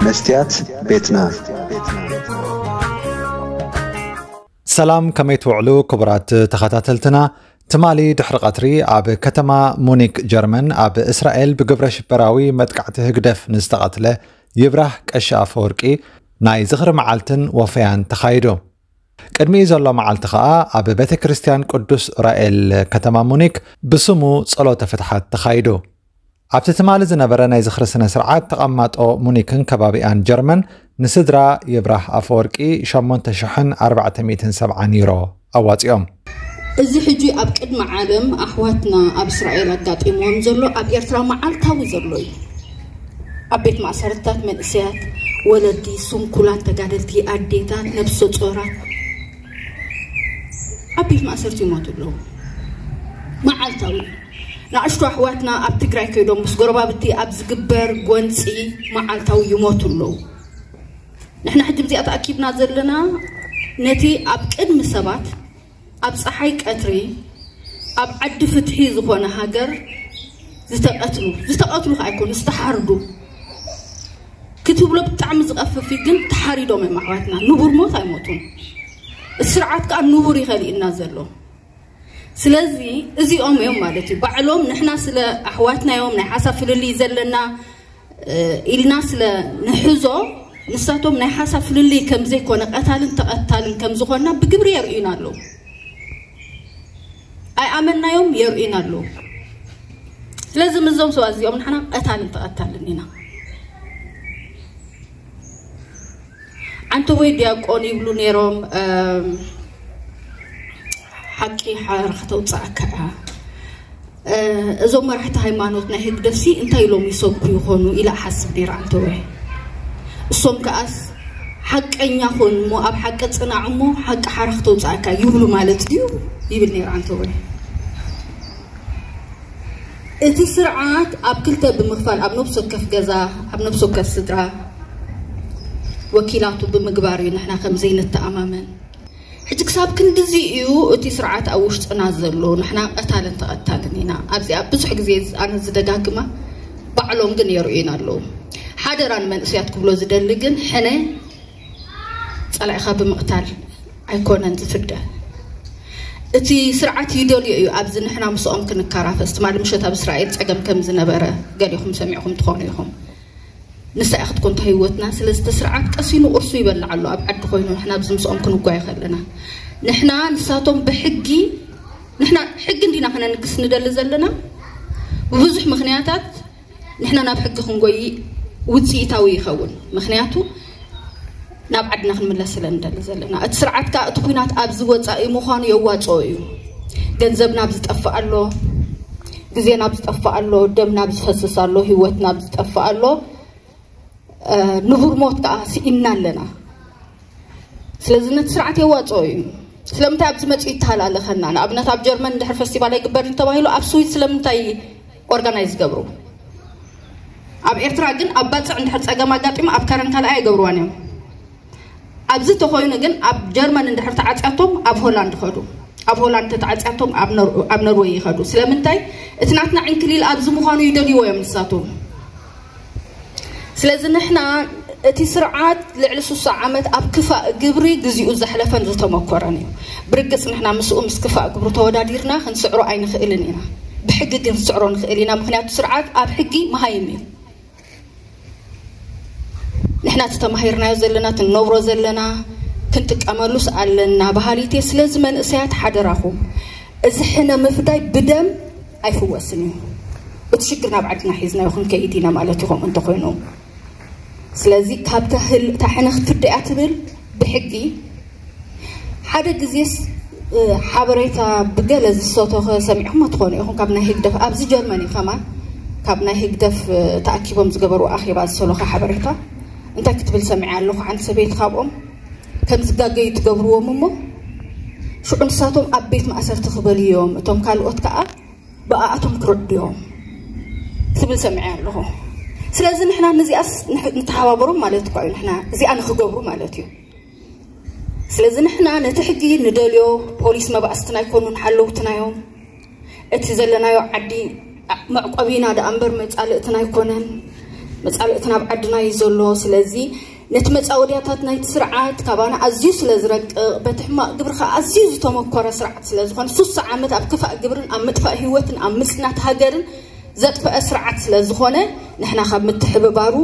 መስትያት ቤትና። ሰላም፣ ከመይ ትውዕሉ ክቡራት ተኸታተልትና? ትማሊ ድሕሪ ቀትሪ ኣብ ከተማ ሙኒክ ጀርመን ኣብ እስራኤል ብግብረ ሽበራዊ መጥቃዕቲ ህግደፍ ንዝተቐትለ ይብራህ ቀሺ ኣፈወርቂ ናይ ዝኽሪ መዓልትን ወፈያን ተኻይዱ። ቅድሚ ዘሎ መዓልቲ ኸኣ ኣብ ቤተ ክርስቲያን ቅዱስ ዑራኤል ከተማ ሙኒክ ብስሙ ጸሎተ ፍትሓት ተኻይዱ። ኣብቲ ትማሊ ዝነበረ ናይ ዝኽሪ ስነ ስርዓት ተቐማጦ ሙኒክን ከባቢኣን ጀርመን ንስድራ ይብራህ ኣፈወርቂ ሸሞንተ ሽሕን ኣርባዕተ ሚእትን ሰብዓን ዩሮ ኣዋጺኦም። እዚ ሕጂ ኣብ ቅድሚ ዓለም ኣሕዋትና ኣብ እስራኤል ኣጋጢምዎም ዘሎ ኣብ ኤርትራ መዓልታዊ ዘሎ እዩ። ኣብ ቤት ማእሰርታት መንእሰያት፣ ወለዲ፣ ስንኩላን ተጋደልቲ፣ ኣዴታት፣ ነብሰ ጾራት ኣብ ቤት ማእሰርቲ ይሞቱ ኣለዉ። መዓልታዊ እዩ። ንኣሽቱ ኣሕዋትና ኣብ ትግራይ ከይዶም ምስ ጎረባብቲ ኣብ ዝግበር ጎንፂ መዓልታዊ ይሞቱ ኣለዉ። ንሕና ሕጂ ብዚኣ ተኣኪብና ዘለና ነቲ ኣብ ቅድሚ ሰባት ኣብ ፀሓይ ቀትሪ ኣብ ዓዲ ፍትሒ ዝኾነ ሃገር ዝተቐትሉ፣ ዝተቐትሉ ከኣ ኣይኮኑ፣ ዝተሓርዱ ክትብሎ ብጣዕሚ ዝቐፍፍ እዩ። ግን ተሓሪዶም እዮም ኣሕዋትና። ንቡር ሞት ኣይሞቱን። ስርዓት ከኣ ንቡር እዩ ከሊእና ዘሎ። ስለዚ እዚኦም እዮም ማለት እዩ ባዕሎም ንሕና ስለ ኣሕዋትና እዮም ናይ ሓሳብ ፍልልይ ዘለና፣ እ፣ ኢልና ስለ ንሕዞ፣ ንሳቶም ናይ ሓሳብ ፍልልይ ከም ዘይኮነ፣ ቀታልን ተቐታልን ከም ዝኾንና ብግብሪ የርእዩና ኣለዉ። ኣይኣመንናዮም፣ የርእዩና ኣለዉ። ስለዚ ምስዞም ሰባት እዚኦም ንሕና ቀታልን ተቐታልን ኢና። ዓንተወይ ዲያቆን ይብሉ ነይሮም። እም፣ ሓቂ ሓራ ከተውፅኣካ እያ። እ፣ እዞም መራሕቲ ሃይማኖት ናይ ህግደፍሲ እንታይ ኢሎም ይሰብኩ ይኾኑ ኢለ እሓስብ ነይረ። ዓንተወይ፣ እሶም ከኣስ ሓቀኛ ኾን እሞ ኣብ ሓቂ ፅናዕ እሞ ሓቂ ሓራ ከተውፅኣካ ይብሉ ማለት ድዩ ይብል ነይረ። ዓንተወይ፣ እቲ ስርዓት ኣብ ክልተ ብምኽፋል ኣብ ነብሲ ወከፍ ገዛ፣ ኣብ ነብሲ ወከፍ ስድራ ወኪላቱ ብምግባር እዩ ንሕና ከም ዘይንተኣማመን። ሕጂ ክሳብ ክንድዚ እዩ እቲ ስርዓት ኣብ ውሽጥና ዘሎ። ንሕና ቀታልን ተቐታልን ኢና። ኣብዚኣ ብዙሕ ግዜ ኣነ ዝደጋግማ፣ ባዕሎም ግን የርእዩና ኣለዉ። ሓደራ ንመንእሰያት ክብሎ ዝደሊ ግን ሕነ ጸላኢኻ ብምቕታል ኣይኮነን ዝፍደ። እቲ ስርዓት ይደልዮ እዩ ኣብዚ ንሕና ምስኦም ክንከራፈስ። ትማሊ ምሸት ኣብ እስራኤል ጸገም ከም ዝነበረ ገሊኹም ሰሚዕኹም ትኾኑ ኢኹም። ንሳ እያ ክትኮን እታ ህይወትና። ስለዚ እቲ ስርዓት ቀሲኑ ቁርሱ ይበልዕ ኣሎ ኣብ ዓዲ ኮይኑ፣ ንሕና ኣብዚ ምስኦም ክንጓየ ከለና። ንሕና ንሳቶም ብሕጊ፣ ንሕና ሕጊ እንዲና ክነንግስ ንደሊ ዘለና። ብብዙሕ ምኽንያታት ንሕና ናብ ሕጊ ክንጎይ ውፅኢታዊ ይኸውን። ምኽንያቱ ናብ ዓድና ክንምለስ ስለ ንደሊ ዘለና። እቲ ስርዓት ከኣ እቲ ኲናት ኣብዚ ወፃኢ ምዃኑ የዋፅኦ እዩ። ገንዘብ ናብ ዝጠፍእ ኣሎ፣ ግዜ ናብ ዝጠፍእ ኣሎ፣ ደም ናብ ዝፈስስ ኣሎ፣ ህይወት ናብ ዝጠፍእ ኣሎ። እ፣ ንቡር ሞት ከኣ ስኢንና ኣለና። ስለዚ ነቲ ስርዓት የዋፅኦ እዩ። ስለምንታይ ኣብዚ መፅኡ ይተሃላለኸና? ንኣብነት ኣብ ጀርመን እንድሕር ፈስቲቫል ኣይግበርን ተባሂሉ ኣብ ስዊስ ስለምንታይ ኦርጋናይዝ ይገብሩ? ኣብ ኤርትራ ግን ኣብ ባፅዕ እንድሕር ፀገም ኣጋጢሙ ኣብ ከረን ካልኣይ ኣይገብርዋን እዮም። ኣብዚ ተኾይኑ ግን ኣብ ጀርመን እንድሕር ተዓፅያቶም ኣብ ሆላንድ ይኸዱ፣ ኣብ ሆላንድ ተተዓፅያቶም ኣብ ኖር-፣ ኣብ ኖርወይ ይኸዱ። ስለምንታይ? እቲ ናትና ዕንክሊል ኣብዚ ምዃኑ ይደልይዎ እዮም ንሳቶም። ስለዚ ንሕና እቲ ስርዓት ልዕሊ ስሳ ዓመት ኣብ ክፋእ ግብሪ ግዚኡ ዘሕለፈን ዝተመኮረን እዩ። ብርግፅ ንሕና ምስኡ ምስ ክፋእ ግብሩ ተወዳዲርና ክንስዕሮ ኣይንኽእልን ኢና። ብሕጊ ግን ክንስዕሮ ንኽእል ኢና። ምኽንያቱ ስርዓት ኣብ ሕጊ መሃይም እዩ። ንሕና እቲ ተማሂርናዮ ዘለና፣ እቲ ንነብሮ ዘለና ክንጥቀመሉስ ኣለና በሃሊት እየ። ስለዚ መንእሰያት ሓደራኹም፣ እዚ ሕነ ምፍዳይ ብደም ኣይፍወስን እዩ። እቲ ሽግር ናብ ዓድና ሒዝናዮ ክንከይድ ኢና ማለት እዩ፣ ከምኡ እንተኾይኑ። ስለዚ ካብ ተህል-፣ እታ ሕነ ክትፍደ እያ ትብል ብሕጊ። ሓደ ግዜስ፣ እ፣ ሓበሬታ ብገለ ዝሰተኸ ሰሚዕኹም ትኾኑ ኢኹም። ካብ ናይ ህግደፍ፣ ኣብዚ ጀርመን እዩ ከማን፣ ካብ ናይ ህግደፍ፣ እ፣ ተኣኪቦም ዝገበሩ ኣኼባ ዝሰለኸ ሓበሬታ። እንታይ ክትብል ሰሚዐ ኣለኹ? ሓንቲ ሰበይቲ ካብኦም ከም ዝጋገዩ ትገብርዎም እሞ፣ ሽዑ ንሳቶም ኣብ ቤት ማእሰርቲ ክበልዮም፣ እቶም ካልኦት ከኣ ብኣኣቶም ክርዕድዮም ትብል ሰሚዐ ኣለኹ። ስለዚ ንሕና ነዚኣስ ንሕ-፣ ንተሓባበሮም ማለት እኳ እዩ። ንሕና እዚኣ ንኽገብሩ ማለት እዩ። ስለዚ ንሕና ነቲ ሕጊ ንደልዮ፣ ፖሊስ መባእስትና ኣይኮኑን፣ ሓለውትና እዮም። እቲ ዘለናዮ ዓዲ መዕቆቢና ደኣ እምበር መጻልእትና ኣይኮነን። መጻልእቲ ናብ ዓድና እዩ ዘሎ። ስለዚ ነቲ መጻወድያታት ናይቲ ስርዓት ካባና ኣዝዩ ስለ ዝረቅቕ፣ በቲ ሕማቕ ግብሪ ከኣ ኣዝዩ ዝተመኮረ ስርዓት ስለ ዝኾነ፣ ሱሳ ዓመት ኣብ ክፋእ ግብርን ኣብ ምጥፋእ ህይወትን ኣብ ምጽናት ሃገርን ዘጥፈአ ስርዓት ስለ ዝኾነ፣ ንሕና ካብ ምትሕብባሩ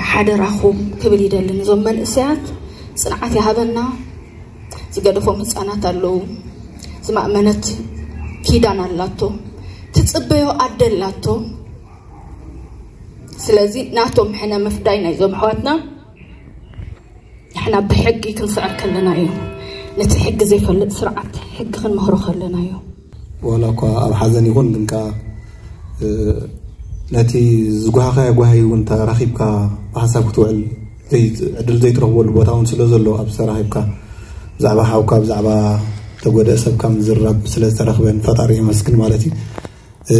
ሓደራኹም ክብል ይደልን። እዞም መንእሰያት ጽንዓት ይሃበና። ዝገደፎም ህጻናት ኣለዉ። ዝማእመነት ኪዳን ኣላቶ። ትጽበዮ ኣደ ኣላቶ። ስለዚ ናቶም ሕነ ምፍዳይ ናይዞም ኣሕዋትና ንሕና ብሕጊ ክንስዕር ከለና እዩ። ነቲ ሕጊ ዘይፈልጥ ስርዓት ሕጊ ክንመህሮ ከለና እዩ። ዋላ እኳ ኣብ ሓዘን ይኹን ግን ከኣ፣ እ፣ ነቲ ዝጓሃኻዮ ጓሂ እውን ተራኺብካ ብሓሳብ ክትውዕል ዘይ-፣ ዕድል ዘይትረኽበሉ ቦታ እውን ስለ ዘሎ፣ ኣብ ዝተራኺብካ ብዛዕባ ሓውካ፣ ብዛዕባ ተጎድአ ሰብካ ምዝራብ ስለ ዝተረኽበ ንፈጣሪ የመስግን ማለት እዩ። እ፣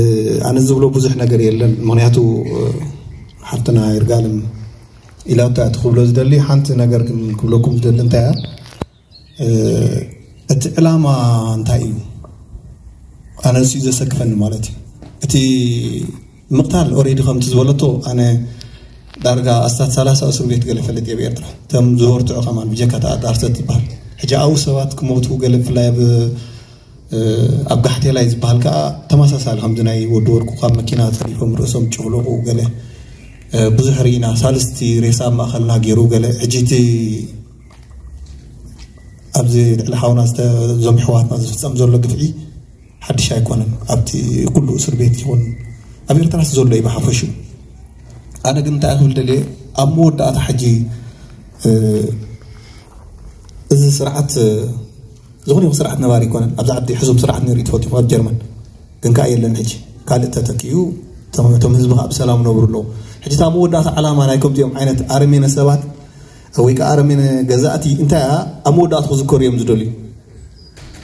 ኣነ ዝብሎ ብዙሕ ነገር የለን። ምኽንያቱ፣ እ፣ ሓፍትና ይርጋለም ኢላቶ እያ። እቲ ክብሎ ዝደሊ ሓንቲ ነገር ግን ክብለኩም ዝደሊ እንታይ እያ? እ፣ እቲ ዕላማ እንታይ እዩ? ኣነ ንሱ እዩ ዘሰክፈኒ ማለት እዩ። እቲ ምቕታል ኦሬዲ ከምቲ ዝበለቶ ኣነ ዳርጋ ኣስታት ሰላሳ እስር ቤት ገለ ፈልጥ እየ ብኤርትራ። እቶም ዝበርትዑ ከማን ብጀካ ተኣዳርሰት ዝበሃል። ሕጂ ኣብኡ ሰባት ክሞቱ ገለ ብፍላይ ኣብ፣ እ፣ ኣብ ጋሕቴላይ ዝበሃል ከኣ ተመሳሳሊ ከምዚ ናይ ወዲ ወርቁ ካብ መኪና ተሪፎም ርእሶም ጭፍለቑ ገለ፣ እ፣ ብዙሕ ርኢና። ሳልስቲ ሬሳ ኣብ ማእኸልና ገይሩ ገለ። ሕጂ እቲ ኣብዚ ልዕሊ ሓውና ዝተ-፣ እዞም ኣሕዋትና ዝፍጸም ዘሎ ግፍዒ ሓድሽ ኣይኮነን። ኣብቲ ኩሉ እስር ቤት ይኹን ኣብ ኤርትራስ ዘሎ እዩ ብሓፈሽኡ። ኣነ ግን እንታይ ክብል ደልየ፣ ኣብ መወዳእታ ሕጂ፣ እ፣ እዚ ስርዓት፣ እ፣ ዝኾነ ይኹን ስርዓት ነባሪ ኣይኮነን። ኣብዚ ዓዲ ሕሱም ስርዓት ነይሩ እዩ ተፈቲሑ ኣብ ጀርመን። ግን ከኣ የለን ሕጂ። ካልእ ተተኪኡ፣ እቶም፣ እቶም ህዝቢ ከኣ ብሰላም ነብሩ ኣለዉ። ሕጂ እታ መወዳእታ ዓላማ ናይ ከምዚኦም ዓይነት ኣረሜነ ሰባት ወይ ከኣ ኣረሜነ ገዛእቲ እንታይ እያ? ኣብ መወዳእታ ክዝከሩ እዮም ዝደልዩ።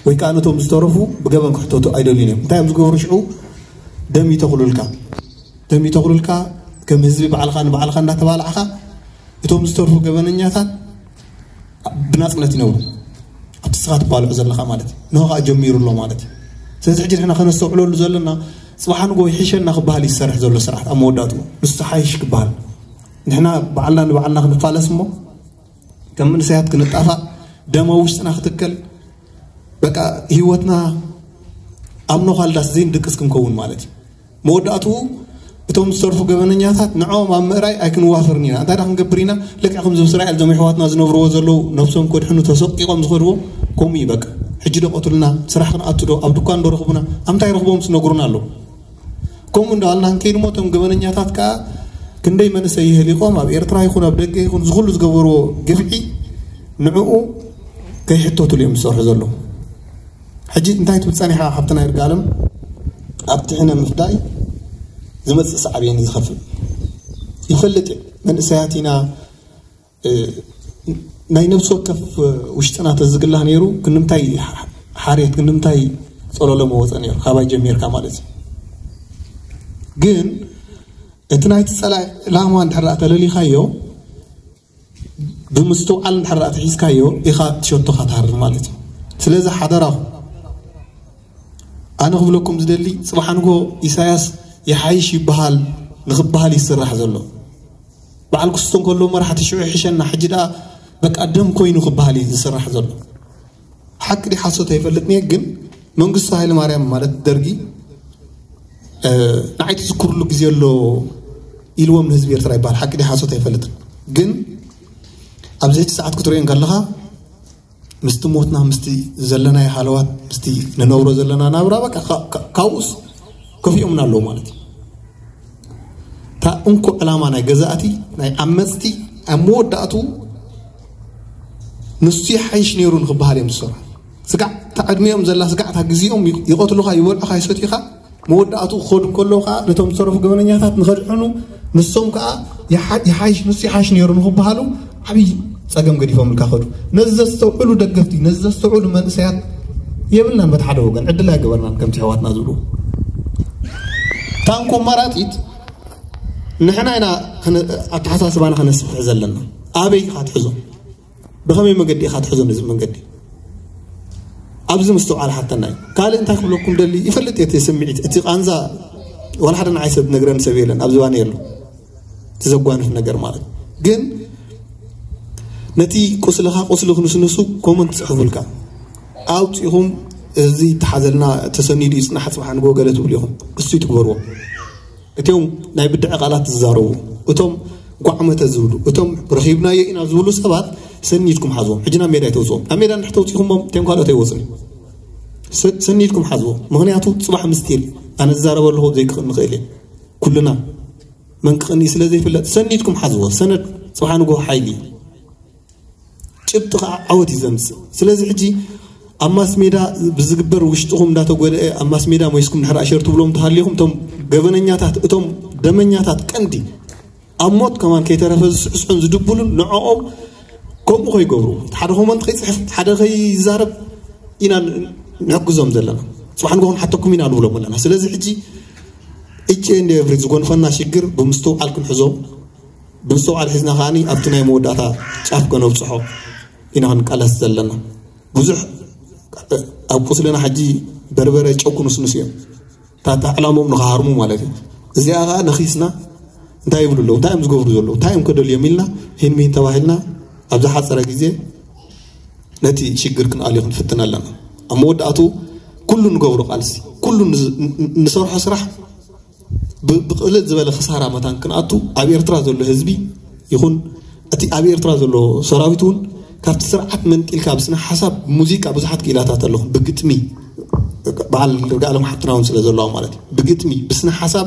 ወይ ከኣ ነቶም ዝተረፉ ብገበን ክሕተቱ ኣይደልዩን እዮም። እንታይ እዮም ዝገብሩ ሽዑ? ደም ይተኽሉልካ። ደም ይተኽሉልካ፣ ከም ህዝቢ ባዕልኻ ንባዕልኻ እንዳተባላዕኻ፣ እቶም ዝተርፉ ገበነኛታት ብናጽነት ይነብሩ። ኣብቲ ንስኻ ትባልዖ ዘለኻ ማለት እዩ። ንሆ ከኣ ጀሚሩ ኣሎ ማለት እዩ። ስለዚ ሕጂ ንሕና ከነስተውዕለሉ ዘለና፣ ጽባሕ ንግሆ ይሕሸና ክበሃል እዩ ዝሰርሕ ዘሎ ስርዓት ኣብ መወዳእትኡ። ንሱ ሓይሽ ክበሃል። ንሕና ባዕልና ንባዕልና ክንፋለስ እሞ፣ ከም መንእሰያት ክንጣፋእ፣ ደም ኣብ ውሽጥና ክትከል፣ በቃ ህይወትና ኣብ ነዃልዳስ ዘይንድቅስ ክንከውን ማለት እዩ። መወዳእትኡ እቶም ዝተርፉ ገበነኛታት ንዕኦም ኣብ ምእራይ ኣይክንዋፈርን ኢና። እንታይ ደኣ ክንገብር ኢና? ልክዕ ከምዚ ምስ እስራኤል እዞም ኣሕዋትና ዝነብርዎ ዘለዉ ነብሶም ከድሕኑ ተሰቂቖም ዝኸድዎ ከምኡ እዩ በቃ። ሕጂ ዶ ቀትሉና? ስራሕ ክንኣቱ ዶ? ኣብ ድኳን ዶ ረኽቡና? ኣብ እንታይ ረኽቦም ዝነግሩና ኣለዉ። ከምኡ እንዳበልና ክንከይድ እሞ እቶም ገበነኛታት ከኣ ክንደይ መንእሰይ የህሊቖም ኣብ ኤርትራ ይኹን ኣብ ደገ ይኹን እዚ ኩሉ ዝገበርዎ ግፍዒ ንዕኡ ከይሕተቱሉ እዮም ዝሰርሑ ዘለዉ። ሕጂ እንታይ ትብል ጸኒሓ ሓብትና ይርጋለም? ኣብቲ ሕነ ምፍዳይ ዝመጽእ ሳዕቤን እዩ ዝኸፍእ። ይፈልጥ እየ። መንእሰያት ኢና፣ እ፣ ናይ ነብሲ ወከፍ ውሽጥና ተዝግላህ ነይሩ፣ ክንምታይ ሓርየት፣ ክንምታይ ጸለሎ መወጸ ነይሩ፣ ካባይ ጀሚርካ ማለት እዩ። ግን እቲ ናይቲ ጸላኢ ዕላማ እንድሕር ደኣ ተለሊኻዮ፣ ብምስትውዓል እንድሕር ደኣ ተሒዝካዮ፣ ኢኻ ትሸቶኻ ትሃርም ማለት እዩ። ስለዚ ሓደራኹም፣ ኣነ ክብለኩም ዝደሊ፣ ጽባሕ ንግሆ ኢሳያስ ይሓይሽ ይበሃል ንኽበሃል ይስራሕ ዘሎ። በዓል ክስቶ እንከሎ መራሕቲ ሽዑ ይሕሸና፣ ሕጂ ደኣ በቃ ደም ኮይኑ ክበሃል እዩ ዝስራሕ ዘሎ። ሓቂ ድዩ ሓሶት ኣይፈልጥን እየ፣ ግን መንግስቱ ሃይለማርያም ማለት ደርጊ፣ እ፣ ንዓይ ትዝክሩሉ ግዜ ኣሎ ኢልዎም ንህዝቢ ኤርትራ ይበሃል። ሓቂ ድዩ ሓሶት ኣይፈልጥን፣ ግን ኣብዚ ሕጂ ሰዓት ክትርእዮ እንከለኻ ምስቲ ሞትና፣ ምስቲ ዘለናዮ ሃለዋት፣ ምስቲ ንነብሮ ዘለና ናብራ፣ በቃ፣ ካ-፣ ካ-፣ ካብኡስ ከፊኦምና ኣለዉ ማለት እዩ። እታ እንኮ ዕላማ ናይ ገዛእቲ፣ ናይ ዓመጽቲ፣ ኣብ መወዳእቱ ንሱ ይሓይሽ ነይሩ ንክበሃል እዮም ዝሰርሑ። ስጋዕ፣ እታ ዕድሚኦም ዘላ ስጋዕ፣ እታ ግዜኦም ይ-፣ ይቐትሉኻ፣ ይበልዑኻ፣ ይሰትዩኻ፣ መወዳእቱ ክኸዱ ከለዉ ኸዓ ነቶም ዝተረፉ ገበነኛታት ንኸድሕኑ፣ ንሶም ከኣ ይሓ-፣ ይሓይሽ፣ ንሱ ይሓይሽ ነይሩ ንኽበሃሉ ዓብዪ ጸገም ገዲፎምልካ ኸዱ። ነዚ ዘስተውዕሉ ደገፍቲ፣ ነዚ ዘስተውዕሉ መንእሰያት የብልናን። በቲ ሓደ ወገን ዕድል ኣይገበርናን ከምቲ ኣሕዋትና ዝብሉ። እታ እንኮ ኣማራጺት ንሕና ኢና ከነ-፣ ኣተሓሳስባና ከነስፍሕ ዘለና። ኣበይ ኢኻ ትሕዞ? ብኸመይ መገዲ ኢኻ ትሕዞ ነዚ መንገዲ? ኣብዚ ምስትውዓል ሓተና እዩ። ካልእ እንታይ ክብለኩም ደሊ፣ ይፈልጥ እየ እቲ ስምዒት፣ እቲ ቃንዛ ዋላ ሓደ ንዓይ ሰብ ነግረን ሰብ የለን ኣብ ዝባን የሎ። እቲ ዘጓንፍ ነገር ማለት ግን ነቲ ቁስልኻ ቁስሊ ክንስንሱ ኮመንት ትጽሕፉልካ ኣውፂኹም፣ እዚ ተሓዘልና፣ ተሰኒዱ ይፅናሕ፣ ፅባሕ ንጎ ገለ ትብሉ ኢኹም። እሱ ትግበርዎ። እቶም ናይ ብድዐ ቃላት ዝዛረቡ፣ እቶም ጓዕመተ ዝብሉ፣ እቶም ረኺብናዮ ኢና ዝብሉ ሰባት ሰኒድኩም ሓዝዎም። ሕጂ ናብ ሜዳ ኣይተውፅኦም። ኣብ ሜዳ እንድሕር ተውፂኹሞም እቶም ካልኦት ኣይወፅን። ሰ- ሰኒድኩም ሓዝዎም። ምክንያቱ ፅባሕ ምስቲል ኣነ ዝዛረበ ኣለኹ ዘይክኽእል ንኽእል እየ። ኩልና መን ክቕኒ ስለ ዘይፍለጥ ሰኒድኩም ሓዝዎ። ሰነድ ፅባሕ ንጎ ሓይሊ እዩ። ጭብጢ ከዓ ዓወት እዩ ዘምፅእ። ስለዚ ሕጂ ኣብ ማስ ሜዳ ብዝግበር ውሽጥኹም እንዳተጎደአ ኣብ ማስ ሜዳ ሞይስኩም ድሕር ኣሸር ትብሎም ተሃሊኹም እቶም ገበነኛታት እቶም ደመኛታት ቀንዲ ኣብ ሞት ከማን ከይተረፈ ዝስዕስዑን ዝድብሉን ንዕኦም ከምኡ ከይገብሩ ሓደ ኮመንት ከይፅሕፍ ሓደ ከይዛረብ ኢና ንሕግዞም ዘለና። ፅባሕ ንጎ ክንሓተኩም ኢና ንብሎም ኣለና። ስለዚ ሕጂ እጭ እንደ ኤቭሪ ዝጎንፈና ሽግር ብምስትውዓል ክንሕዞ ብምስትውዓል ሒዝና ከዓኒ ኣብቲ ናይ መወዳእታ ጫፍ ከነብፅሖ ኢና ክንቃለስ ዘለና። ብዙሕ ኣብ ቁስልና ሕጂ በርበረ ጨው ክንስንስ እዮም። እታ ዕላሞም ንኽሃርሙ ማለት እዩ። እዚኣ ከዓ ነኺስና እንታይ ይብሉ ኣለዉ እንታይ እዮም ዝገብሩ ዘለዉ እንታይ እዮም ከደልዮም ኢልና ሂን ሚን ተባሂልና ኣብ ዝሓፀረ ግዜ ነቲ ሽግር ክንኣልዮ ክንፍትን ኣለና። ኣብ መወዳእቱ ኩሉ ንገብሮ ቃልሲ ኩሉ ንሰርሖ ስራሕ ብቕልል ዝበለ ክሳራ መታን ክንኣቱ ኣብ ኤርትራ ዘሎ ህዝቢ ይኹን እቲ ኣብ ኤርትራ ዘሎ ሰራዊት እውን ካብቲ ስርዓት መንጢልካ ብስነ ሓሳብ ሙዚቃ ብዙሓት ክኢላታት ኣለኹ ብግጥሚ በዓል ርጋለም ሓፍትና እውን ስለ ዘለዋ ማለት እዩ ብግጥሚ ብስነ ሓሳብ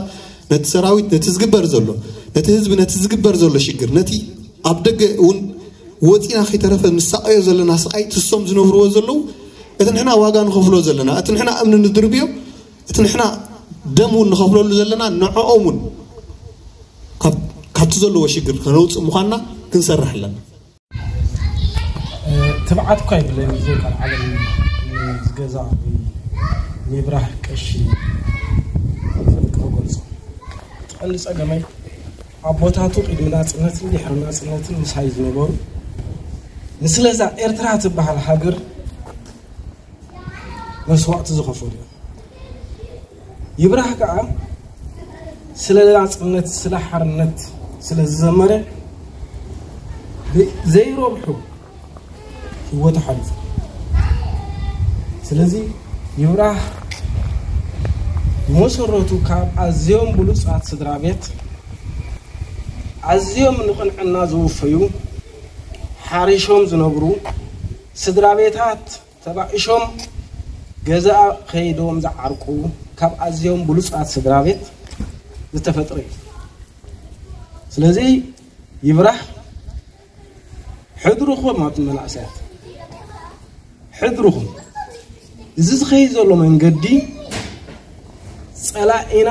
ነቲ ሰራዊት ነቲ ዝግበር ዘሎ ነቲ ህዝቢ ነቲ ዝግበር ዘሎ ሽግር ነቲ ኣብ ደገ እውን ወፂና ከይተረፈ ንሳቀዮ ዘለና ስቃይ ትሶም ዝነብርዎ ዘለዉ እቲ ንሕና ዋጋ ንኸፍሎ ዘለና እቲ ንሕና እምኒ ንድርብዮ እቲ ንሕና ደም እውን ንኸፍለሉ ዘለና ንዕኦም እውን ካብቲ ዘለዎ ሽግር ከነውፅእ ምዃንና ክንሰርሕ ኣለና። ትብዓት እኳ ይብለኒ ብዘይ ቃል ዓለም ዝገዛ ወይ ምብራህ ቀሺ ፈንቅ ክገልጾ ቀንዲ ጸገመይ ኣቦታቱ ቅድሚ ናጽነትን ድሕሪ ናጽነትን ምሳይ ዝነበሩ ንስለዛ ኤርትራ ትበሃል ሃገር መስዋእቲ ዝኸፈሉ እዮም። ይብራህ ከዓ ስለ ናጽነት ስለ ሓርነት ስለ ዝዘመረ ዘይረብሑ ህይወቱ ሓሊፉ። ስለዚ ይብራህ መሰረቱ ካብ ኣዝዮም ብሉጻት ስድራ ቤት ኣዝዮም ንቕንዕና ዝውፈዩ ሓሪሾም ዝነብሩ ስድራ ቤታት ተባኢሾም ገዛ ከይዶም ዝዓርቁ ካብ ኣዝዮም ብሉጻት ስድራ ቤት ዝተፈጥረ እዩ። ስለዚ ይብራህ ሕድርኹም ኣብቲ መናእሰያት ሕድርኹም እዚ ዝኸይድ ዘሎ መንገዲ ጸላኢና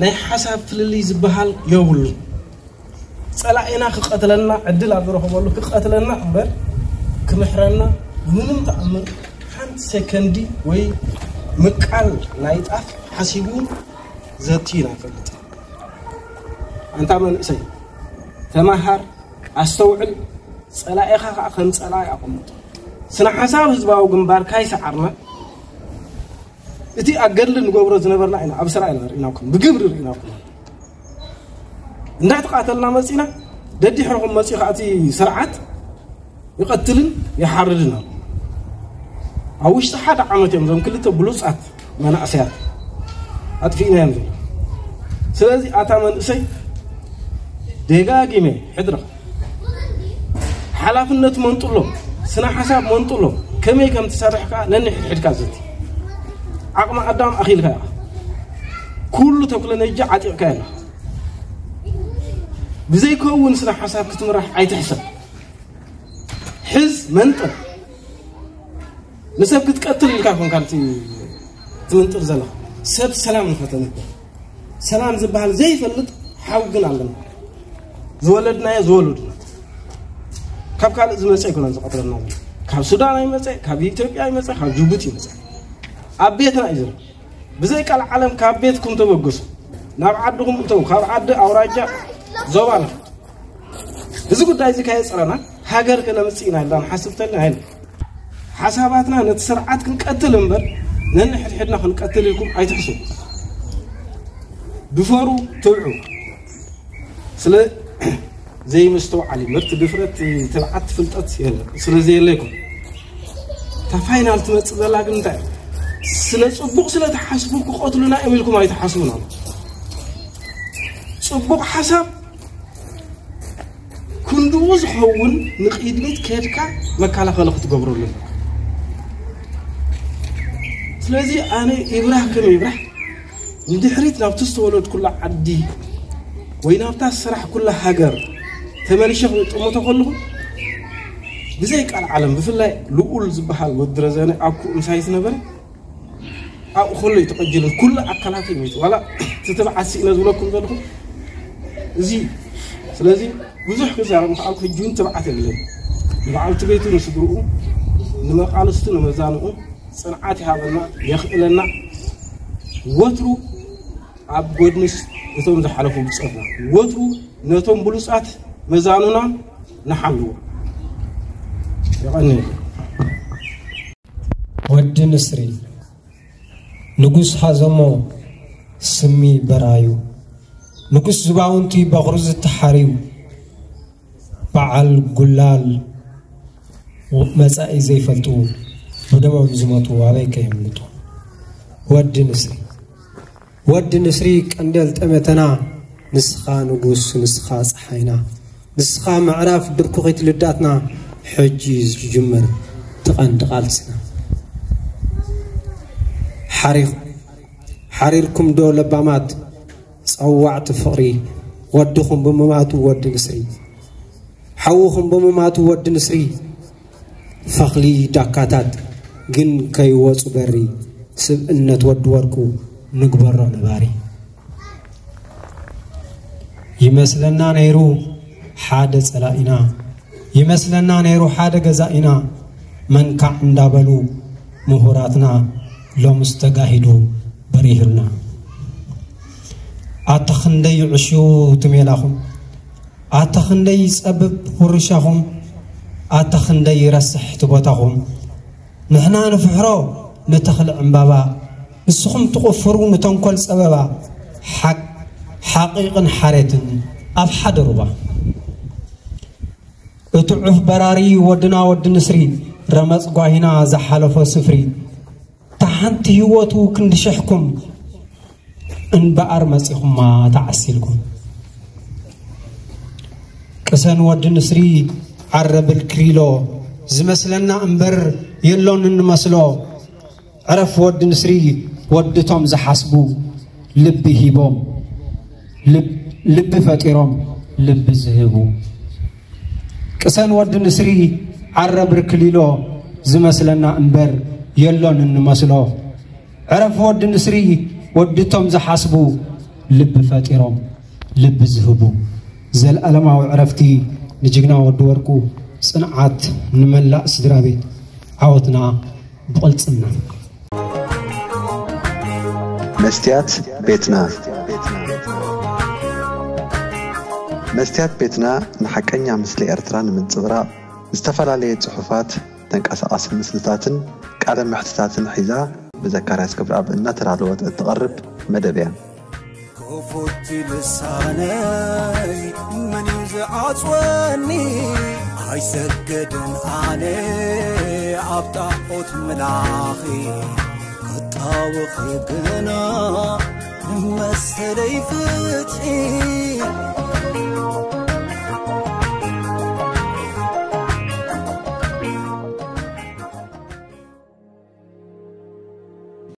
ናይ ሓሳብ ፍልልይ ዝበሃል የብሉ። ጸላኢና ክቐትለና ዕድል ኣብ ዝረኸበሉ ክቐትለና እምበር ክምሕረና ብምንም ተኣምር ሓንቲ ሰከንዲ ወይ ምቃል ናይ ጣፍ ሓሲቡ ዘትዩና ይፈልጥ። ኣንታ መንእሰይ ተማሃር፣ ኣስተውዕል፣ ጸላኢኻ ከዓ ከም ጸላኢ ኣቐምጦ። ስነ ሓሳብ ህዝባዊ ግንባር ካይሰዓርና እቲ ኣገድሊ ንገብሮ ዝነበርና ኢና ኣብ ስራ ኢና ርኢናኩም ብግብሪ ርኢናኩም እንዳተቃተልና መፂና ደድሕርኹም መፂኡ ከዓ እቲ ስርዓት ይቐትልን ይሓርድን ኣሎ። ኣብ ውሽጢ ሓደ ዓመት እዮም እዞም ክልተ ብሉፃት መናእሰያት ኣጥፊእናዮም ዘሎ። ስለዚ ኣታ መንእሰይ ደጋጊመ ሕድርኻ ሓላፍነት መንጥሎም፣ ስነ ሓሳብ መንጥሎም፣ ከመይ ከም ትሰርሕ ከዓ ነንሕድሕድካ ዘቲ። ዓቕሚ ኣዳም ኣኺልካ ኢኻ። ኩሉ ተክሎነጂ ዓጢቕካ ኣለኻ። ብዘይከውን ስነ ሓሳብ ክትምራሕ ኣይትሕሰብ። ሕዝ መንጥር ንሰብ ክትቀትል ኢልካ ኮንካ ትምንጥር ዘለኻ ሰብ ሰላም ንኸተንብር ሰላም ዝበሃል ዘይፈልጥ ሓው ግን ኣለና። ዝወለድናዮ ዝወለዱና ካብ ካልእ ዝመፀ ኣይኮነን ዝቐትለና ዘሎ። ካብ ሱዳን ኣይመፀ፣ ካብ ኢትዮጵያ ኣይመፀ፣ ካብ ጅቡቲ ይመፀ። ኣብ ቤትና እዩ ዘሎ። ብዘይ ቃል ዓለም ካብ ቤትኩም ተበገሱ። ናብ ዓድኹም እተው። ካብ ዓዲ ኣውራጃ ዞባ ንፈት። እዚ ጉዳይ እዚ ካየፅረና ሃገር ከነምፅእ ኢና ኢልና ንሓስብ ተልና ኣይነ ሓሳባትና ነቲ ስርዓት ክንቀትል እምበር ነንሕድሕድና ክንቀትል ኢልኩም ኣይትሕስቡ። ድፈሩ፣ ትብዑ። ስለ ዘይምስተውዓል እዩ። ምርቲ ድፍረት፣ ትብዓት፣ ፍልጠት የለ። ስለ ዘየለ ይኮን። እታ ፋይናል ትመጽእ ዘላ ግን እንታይ? ስለ ጽቡቕ ስለ ትሓስቡ ክቐትሉና እዮም ኢልኩም ኣይትሓስቡን ኣሎ። ጽቡቕ ሓሳብ ክንድኡ ዝኸውን ንቕድሚት ከድካ መከላኸሊ ክትገብረሉ ኣለካ። ስለዚ ኣነ ይብራህ ከም ይብራህ ንድሕሪት ናብቲ ዝተወለድኩላ ዓዲ ወይ ናብታ ዝሰራሕኩላ ሃገር ተመሊሸ ክጥምቶ ከለኹ ብዘይ ቃል ዓለም ብፍላይ ልኡል ዝበሃል ወዲ ረዘነ ኣብኩ ምሳይ ዝነበረ ኣብኡ ከሎ እዩ ተቐጂሉን ኩሉ ኣካላተይ ሞይቱ። ዋላ እቲ ትብዓት ስኢነ ዝብለኩም ዘለኹ እዚ እዩ። ስለዚ ብዙሕ ክዛረብ ምኽኣልኩ ሕጂ እውን ትብዓት የብለይ። ንበዓልቲ ቤቱ ንስድርኡ ንመቓልስቱ ንመዛንኡ ጽንዓት ይሃበና የኽእለና። ወትሩ ኣብ ጎድንስ እቶም ዝሓለፉ ብጸትና ወትሩ ነቶም ብሉጻት መዛኑና ንሓልዎ። የቐንየለይ። ወዲ ንስሪ ንጉስ ሃዘሞ ስሚ በራዩ ንጉስ ዝባውንቲ በኽሩ ዝተሓርዩ በዓል ጉላል መጻኢ ዘይፈልጡ ብደሞም ዝመቱ ኣበይ ከየምልጡ። ወዲ ንስሪ ወዲ ንስሪ ቀንደል ጠመተና ንስኻ ንጉስ ንስኻ ጸሓይና ንስኻ ምዕራፍ ድርኩኺት ልዳትና ሕጂ ዝጅምር ትቐንዲ ቃልስና ሓሪኽ ሓሪርኩም ዶ ለባማት ጸዋዕቲ ፍቕሪ ወድኹም ብምማቱ ወዲ ንስሪ ሓውኹም ብምማቱ ወዲ ንስሪ ፈኽሊ ዳካታት ግን ከይወጹ በሪ ስብእነት ወዲ ወርቁ ንግበሮ ነባሪ። ይመስለና ነይሩ ሓደ ጸላኢና ይመስለና ነይሩ ሓደ ገዛኢና መንካዕ እንዳበሉ ምሁራትና ሎምስ ተጋሂዱ በሪሁልና። ኣታ ክንደይ ይዕሽው ትሜላኹም ኣታ ክንደይ ይጸብብ ውርሻኹም ኣታ ክንደይ ይረስሕ እቲ ቦታኹም ንሕና ንፍሕሮ ንተኽሊ ዕምባባ ንስኹም ትቑፍሩ ንተንኮል ጸበባ ሓቂቕን ሓሬትን ኣብ ሓደ ሩባ እቲ ዑፍ በራሪ ወድና ወዲ ንስሪ ረመጽ ጓሂና ዝሓለፎ ስፍሪ እታ ሓንቲ ህይወቱ ክንዲ ሽሕኩም እንበኣር መጺኹማ ተዓሲልኩም ቅሰን ወዲ ንስሪ ዓረብል ክሪሎ ዝመስለና እምበር የሎን እንመስሎ ዕረፍ ወዲ ንስሪ ወድቶም ዝሓስቡ ልቢ ሂቦም ልቢ ፈጢሮም ልቢ ዝህቡ ቅሰን ወዲ ንስሪ ዓረብ ርክሊሎ ዝመስለና እምበር የሎን እንመስሎ ዕረፍ ወዲ ንስሪ ወድቶም ዝሓስቡ ልቢ ፈጢሮም ልቢ ዝህቡ ዘልኣለማዊ ዕረፍቲ ንጅግና ወዲ ወርቁ ጽንዓት ንመላእ ስድራ ቤት ዓወትና ብቕልጽምና መስትያት ቤትና መስትያት ቤትና ንሓቀኛ ምስሊ ኤርትራ ንምንጽብራቕ ዝተፈላለየ ጽሑፋት ተንቀሳቓሲ ምስልታትን ቃለ ምሕትታትን ሒዛ ብዘካርያስ ክብረኣብ እናተዳለወት እትቐርብ መደብ እያ። ክፉት ልሳነይ መን እዩ ዝዓጽወኒ ኣይሰገድን ኣነ ኣብ ጣዖት ምላኺ ክጣወኺ ግና ንመሰለይ ፍትሒ